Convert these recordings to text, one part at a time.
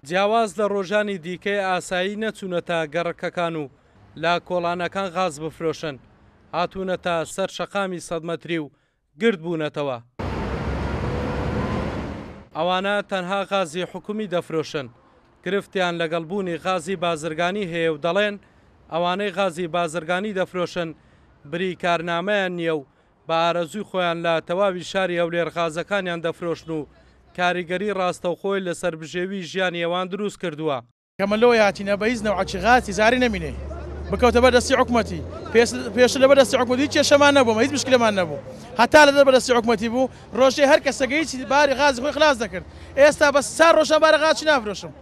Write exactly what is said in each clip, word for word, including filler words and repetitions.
جیاواز لە ڕۆژانی دیکەی ئاسایی نەچوونەتە گەڕەکەکان و لە کۆڵانەکان غاز بفرۆشن، هاتوونەتە سەر شەقامی سەد مەتری و گرد بوونەتەوە. ئەوانە تەنها غازی حکومی دەفرۆشن، گرفتیان لەگەڵ بوونی غازی بازرگانی هەیە و دەڵێن ئەوانەی غازی بازرگانی دەفرۆشن بریکارنامەیان نییە و بە ئارەزووی خۆیان لە تەواوی شاری هەولێر غازەکانیان دەفرۆشن و کاریگەری ڕاستەوخۆی لەسەر بژێوی ژیانی ئەوان دروست کردووە. کەمە لەوە هاتینە بە هیچ نەوعەکی غاز تیجاری نەمینێ، بکەوتە بەر دەستی حکومەتی. پێشتر لەبەر دەستی حکومەتی هیچ کێشەمان نەبوو، هیچ مشکلەمان نەبوو، هەتا لەدەر بەدەستی حکومەتی بوو ڕۆژێ هەر کەسەکە هیچ باری غازی خۆی خلاص دەکرد. ئێستا بەس چار ڕۆژان بارە غازی نافرۆشم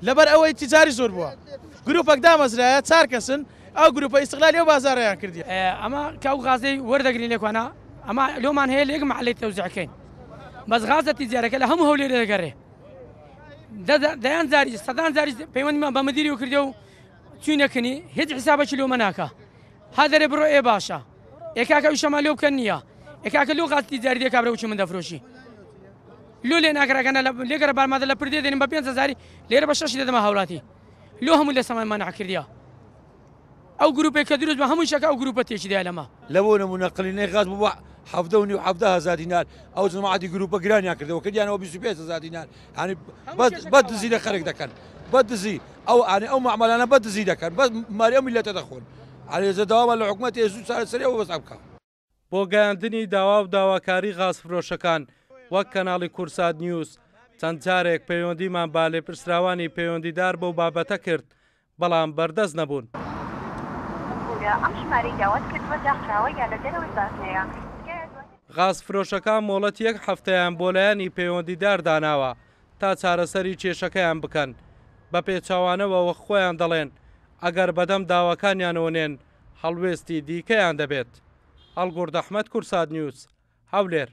لەبەر ئەوەی تیجاری زۆر بووە. گروپێک دامەزرایە چار کەسن، ئەو گروپە ئیستغلالی ئەو بازارەیان کردیە. ئەمە کە ئەو غازەی وەردەگرین لێکوانە ئەمە لۆمان هەیە لە یەک محلەی تەوزیعکەین، بەس غازە تیجارەکە لە هەموو هەولێرێ دەگەڕێ. دەیان جاری سەدان جاری پەیوەندیمان بە مدیری کردێ و چوینەکەنی هیچ حسابێکی لۆمە ناکا. ها دەرێ بڕۆ ئێ باشە، ئێ کاکە ئیشەمان لێ بکەن نییە، ئێ کاکە لۆ غاز تیجاری دێ کابرا وچی من دەفرۆشی لۆ لێ ناگەڕەکەنە لێگەرە بارمادە لە پردێ دێنم بە پێنج هەزاری لێرە بە شەشی دەدەمە هاوڵاتی. لۆ هەموو لە سەمای مەنع کردیە. ئەو گروپێک کە دروست بە هەموو شەکە ئەو گروپە تێکی دایە لەمە. لە بۆ نمونە قلینەی غاز بوو بە حەڤدە و نیو حەڤدە هەزار دینار، ئەو جەماعەتی گروپە گرانیان کردەوە کردیانەوە بیست و پێنج هەزار دینار. یعنی بە دزی لە خەرک دەکەن، بە دزی ئەو یعنی ئەو معاملانە بە دزی دەکەن، بەس ماری ئەو میللەتە دەخۆن. یعنی داوامان لە حکومەتی زوو چارەسەری ئەوە بەس بکە. بۆ گەیاندنی داوا و داواکاری غازفرۆشەکان وەک کەناڵی کورسات نیوز چەند جارێک پەیوەندیمان با لێپرسراوانی پەیوەندیدار بەو بابەتە کرد، بەڵام بەردەست نەبوون. غازفرۆشەکان مۆڵەت یەک هەفتەیان بۆ لایەنی پەیوەندیدار داناوە تا چارەسەری کێشەکەیان بکەن. بە پێچەوانەوە وەک خۆیان دەڵێن ئەگەر بەدەم داواکانیانەوە نێن هەڵوێستی دیکەیان دەبێت. هەڵگورد ئەحمەد، کورسات نیوز، هەولێر.